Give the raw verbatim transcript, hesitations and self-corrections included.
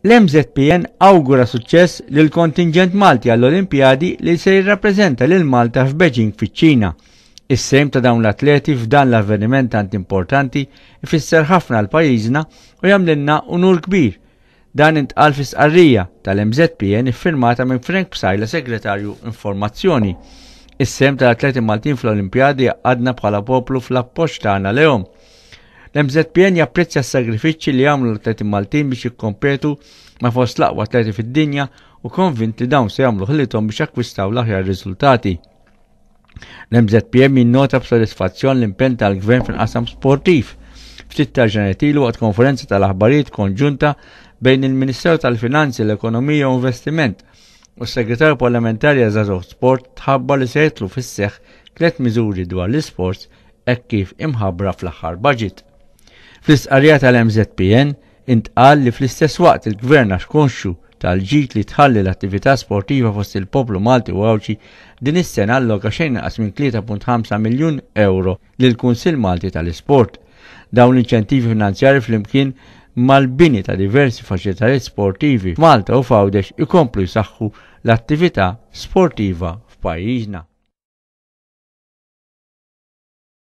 L-M Z P N awgura suċċess lil kontingent Malti għall-Olimpjadi li se jirrappreżenta lil Malta f'Beijing fiċ-Ċina. Is-sehem ta' dawn l-atleti f'dan l-avveniment tant importanti ifisser ħafna għal pajjiżna u jagħmlilna unur kbir. Dan intqal fi stqarrija tal-M Z P N iffirmata minn Frank Psaila, Segretarju Informazzjoni. Is-sehem tal-atleti Maltin fl-Olimpjadi għadna bħala poplu fl-appoġġ tagħna lehom. L-M Z P N japprezzja s-sagrifiċċji li għamlu l-atleti Maltin biex jikkompetu ma' fost l-aqwa atleti fid-dinja u konvinti dawn se jagħmlu ħilithom biex akkwistaw l-aħjar riżultati. L-M Z P N jinnota b'sodisfazzjon l-impenn tal-Gvern fil-qasam sportiv. Ftit ta' ilu, waqt konferenza tal-aħbarijiet konġunta bejn il-Ministeru tal-Finanzi, l-Ekonomija u Investiment u s-Segretarju Parlamentari Żgħażagħ Sport, tħabbar li se jidħlu fis-seħħ tliet miżuri dwar l-isports hekk kif imħabbra fl-aħħar budget. Fl-istqarrija tal-M Z P N intqal li fl-istess waqt il-Gvern, għax konxju tal-ġid li tħalli l-attività sportiva fost il-poplu Malti u Għawdxi, din is-sena alloka xejn inqas minn tlieta punt ħamsa miljun euro lil Kunsill Malti tal-Isport. Dawn l-inċentivi finanzjari, flimkien mal-bini ta' diversi faċilitajiet sportivi f'Malta u f'Għawdex, ikomplu jsaħħu l-attività sportiva f'pajjiżna.